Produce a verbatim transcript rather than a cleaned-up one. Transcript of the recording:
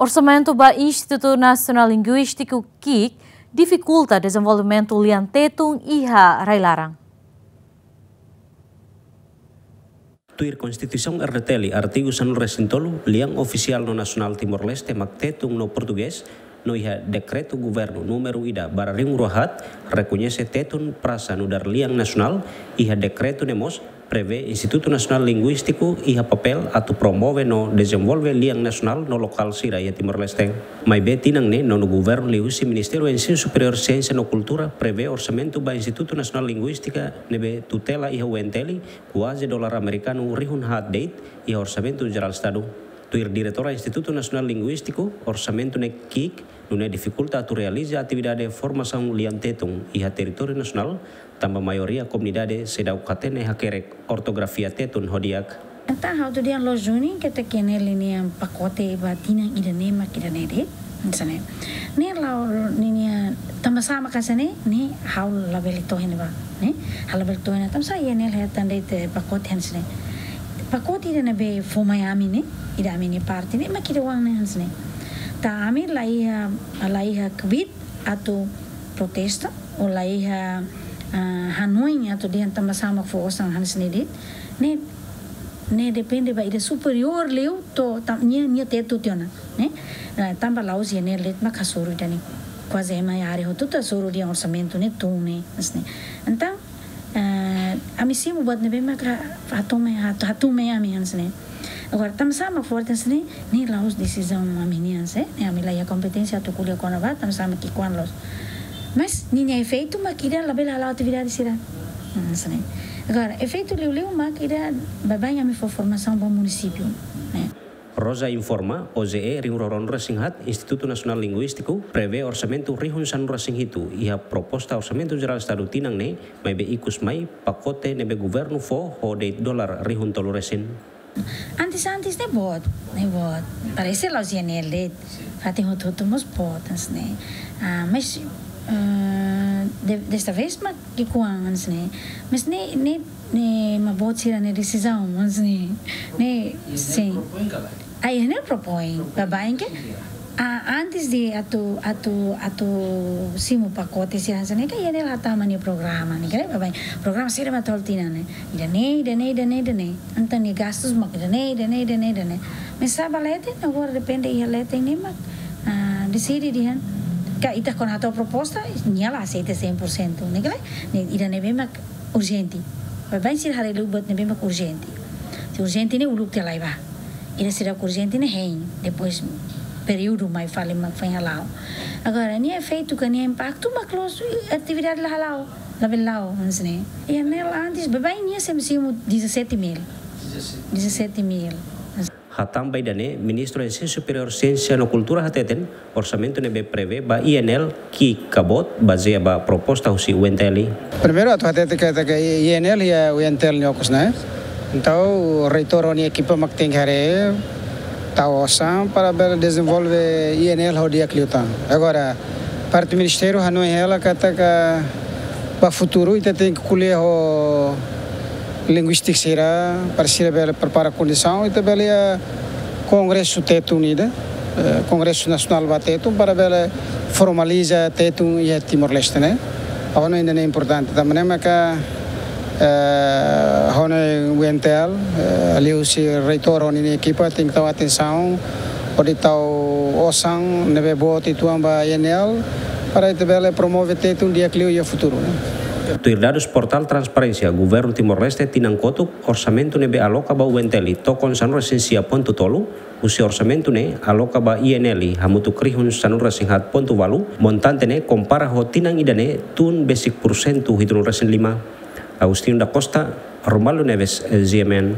Orsamentu ba Institutu Nasionál Linguístiku, kiik, difikulta dezenvolvimentu lian Tetun iha rai-laran. Tuir Konstituisaun R D T L, artigu sanulu-resin-tolu, lian ofisiál no nasionál Timor-Leste mak Tetun no Portugés, no iha dekretu governu númeru ida barra rihun rua haat, rekoñese Tetun prasa nu'udar lian nasionál, iha dekretu ne'e mós prevee Institutu Nasionál Linguístiku iha papél atu promove no dezenvolve lian nasionál no lokál sira iha Timor-Leste. Maibé tinan ne'e, nonu governu liuhusi Ministériu Ensinu Superiór, Siénsia no Kultura prevee orsamentu ba Institutu Nasionál Linguístika ne'ebé tutela iha U N T L, kuaze dolar amerikanu rihun haat de'it iha Orsamentu Jerál Estadu. Tuir diretora Institutu Nasionál Linguístiku, orsamentu ne'e kiik, nune'e difikulta atu realiza atividade formasaun lian Tetun iha territóriu nasionál, tanba maioria komunidade seidauk hatene hakerek ortografia Tetun ho di'ak. Entaun, ha'u atu dehan loos duni katak ne'e lian pakote ba tinan ida-ne'e mak ida-ne'e de'it, hanesan ne'e. Ne'e la'o ninia tanba sá mak hanesan ne'e, ne'e ha'u labele to'o iha ne'ebá, ne'e? Ha'u labele to'o iha ne'e, tanba sá I N L hetan de'it pakote hanesan ne'e. Pakote ida ne'ebé fó mai ami ne'e, ida ami-nia parte ne'e, mak ida-oan ne'e hanesan ne'e. Tanba ami la iha, la iha kbiit atu protesta, ou la iha, ah, hanoin atu dehan tanba sá mak fó osan hanesan ne'e de'it. Ne'e, ne'e depende ba ida superiór liu to'o tan-, nia, nia tetu tiha ona, ne'e? Ah, tanba la'ós I N L de'it mak hasoru ida-ne'e. Kuaze ema iha área hotu-hotu hasoru dehan orsamentu ne'e tun ne'e, hanesan ne'e. Entaun, ah, ami simu buat ne'ebé maka hatun mai, hatu-, hatun mai ami hanesan ne'e. Agora, tanba sá mak forte hanesan ne'e, ne'e la'ós desizaun ami-nian, sé? Ne'e ami la iha kompeténsia atu ko'alia kona-ba, tanba sá mak ki'ikoan loos. Mas, ninia efeitu mak ida labele hala'o atividade sira. Hmm, hanesan ne'e. Agora, efeitu liuliu mak ida baibain ami fó formasaun ba munisípiu, ne'e? Rosa informa, O J E rihun rua ruanulu-resin-haat, Institutu Nasionál Linguístiku, prevee orsamentu rihun sanulu-resin-hitu, iha proposta Orsamentu Jerál Estadu tinan ne'e, maibé ikus mai, pakote ne'ebé governu fó, ho de'it dolar rihun tolu-resin. Antes, antes ne'e boot, ne'e boot. Parese la'ós I N L de'it, fatin hotu-hotu mós boot, hanesan ne'e. Ah, mas, ah, de-, desta vez mak ki'ikoan, hanesan ne'e. Mas ne'e, ne'e, ne'e mak boot sira-nia desizaun, hanesan ne'e. Ne'e, sin. Ah, I N L propõe, baibain ke? Ah, antes de atu, atu, atu simu pakote sira hanesan ne'e, ke I N L hatama nia programa, ne'e ke, baibain. Programa sira mak tolu tinan ne'e. Ida-ne'e, ida-ne'e, ida-ne'e, ida-ne'e. Entaun nia gastus mak ida-ne'e, ida-ne'e, ida-ne'e, ida-ne'e. Mas sá ba leten, agora depende iha leten ne'e mak, ah, deside dehan. Ka ita kuandu hato'o proposta, nia la aseita cem por cento, ne'e ke lae? Ne'e ida ne'ebé mak urjente. Baibain sira haree liu buat ne'ebé mak urjente. Se urjente ne'e uluk tiha lai bá. Ida seidauk urjente ne'e hein, depois períodu mai fali mak foin hala'o. Agora, nia efeitu ka nia impaktu mak loos atividade la hala'o, labele la'o, hanesan ne'e. I N L antes, baibain nia sempre simu dezassete mil. Dezassete mil. Hatán ba ida-ne'e, Ministru Ensinu Superiór, Siénsia no Kultura hateten, orsamentu ne'ebé prevee ba I N L ki'ik ka boot, bazeia ba proposta husi U N T L. Primeiru atu hatete katak I N L iha U N T L nia okos ne'e. Entaun, reitór ho nia ekipa mak tenke haree, tau osan para bele dezenvolve I N L ho di'ak liután. Agora, parte ministériu hanoin hela katak ba futuru ita tenke ko'alia ho linguístika sira, para sira bele prepara kondisaun, ita bele iha kongresu Tetun ida, eh, kongresu nasionál ba Tetun, para bele formaliza Tetun iha Timor-Leste ne'e. Ha'u hanoin ida-ne'e importante, tanba ne'e maka, eh, ha'u hanoin U N T L, eh, liuhusi reitór ho nia ekipa tenke tau atensaun, hodi tau osan ne'ebé boot uitoan ba I N L, para ita bele promove Tetun di'ak liu iha futuru. Tuir dadus portál Transparénsia, Governu Timor-Leste tinan kotuk, orsamentu ne'ebé aloka ba U N T L tokon sanulu-resin-sia pontu tolu, husi orsamentu ne'e aloka ba I N L hamutuk rihun sanulu-resin-haat pontu ualu, montante ne'e kompara ho tinan ida ne'e tun besik pursentu hitunulu-resin-lima. Agostinho da Costa, Romualdo Neves, G M N.